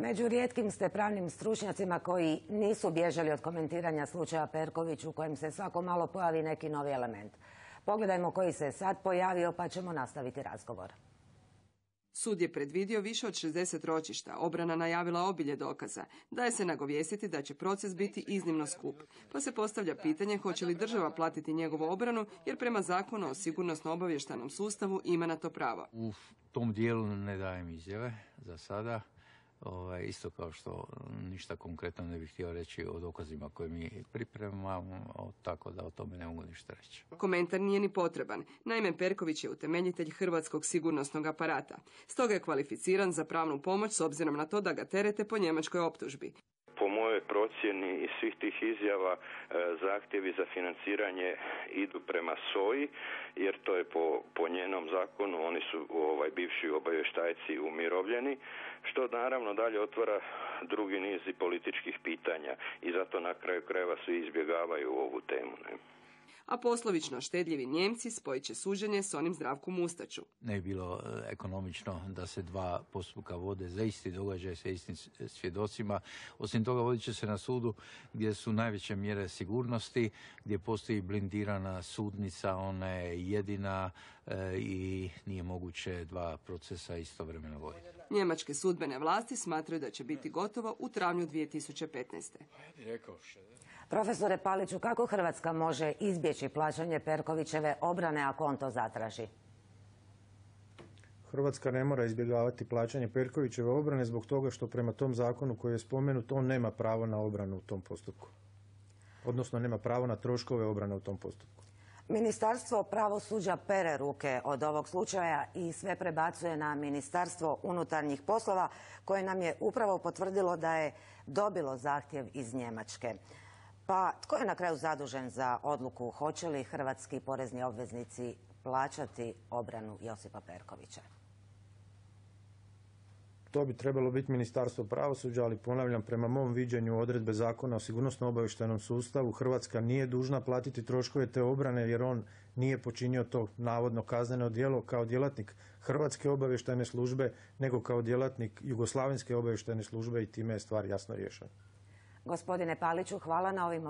Među rijetkim ste pravnim stručnjacima koji nisu bježali od komentiranja slučaja Perković u kojem se svako malo pojavi neki novi element. Pogledajmo koji se sad pojavio pa ćemo nastaviti razgovor. Sud je predvidio više od 60 ročišta, obrana najavila obilje dokaza, daje se nagovijestiti da će proces biti iznimno skup. Pa se postavlja pitanje hoće li država platiti njegovu obranu, jer prema zakonu o sigurnosno-obavještajnom sustavu ima na to pravo. U tom dijelu ne dajem izjave za sada. Isto kao što ništa konkretno ne bih htio reći o dokazima koje mi pripremamo, tako da o tome ne mogu ništa reći. Komentar nije ni potreban. Naime, Perković je utemeljitelj hrvatskog sigurnosnog aparata. Stoga je kvalificiran za pravnu pomoć s obzirom na to da ga terete po njemačkoj optužbi. Po mojoj procjeni iz svih tih izjava zahtjevi za financiranje idu prema SOA-i, jer to je po njenom zakonu, oni su bivši obavještajci umirovljeni, što naravno dalje otvara drugi niz i političkih pitanja i zato na kraju krajeva svi izbjegavaju ovu temu. A poslovično štedljivi Njemci spojit će suđenje s onim Zdravku Mustaču. Ne bi bilo ekonomično da se dva postupka vode za isti događaj sa istim svjedocima. Osim toga vodit će se na sudu gdje su najveće mjere sigurnosti, gdje postoji blindirana sudnica, ona je jedina i nije moguće dva procesa istovremeno voditi. Njemačke sudbene vlasti smatraju da će biti gotovo u travnju 2015. Profesore Paliću, kako Hrvatska može izbjeći plaćanje Perkovićeve obrane ako on to zatraži? Hrvatska ne mora izbjegavati plaćanje Perkovićeve obrane zbog toga što prema tom zakonu koji je spomenut on nema pravo na obranu u tom postupku. Odnosno nema pravo na troškove obrane u tom postupku. Ministarstvo pravosuđa pere ruke od ovog slučaja i sve prebacuje na Ministarstvo unutarnjih poslova koje nam je upravo potvrdilo da je dobilo zahtjev iz Njemačke. Pa tko je na kraju zadužen za odluku hoće li hrvatski porezni obveznici plaćati obranu Josipa Perkovića? To bi trebalo biti Ministarstvo pravosuđa, ali ponavljam, prema mom viđenju odredbe zakona o sigurnosno-obavještajnom sustavu Hrvatska nije dužna platiti troškove te obrane jer on nije počinio to navodno kazneno djelo kao djelatnik Hrvatske obavještajne službe, nego kao djelatnik Jugoslavenske obavještajne službe i time je stvar jasno riješena. Gospodine Paliću, hvala na ovim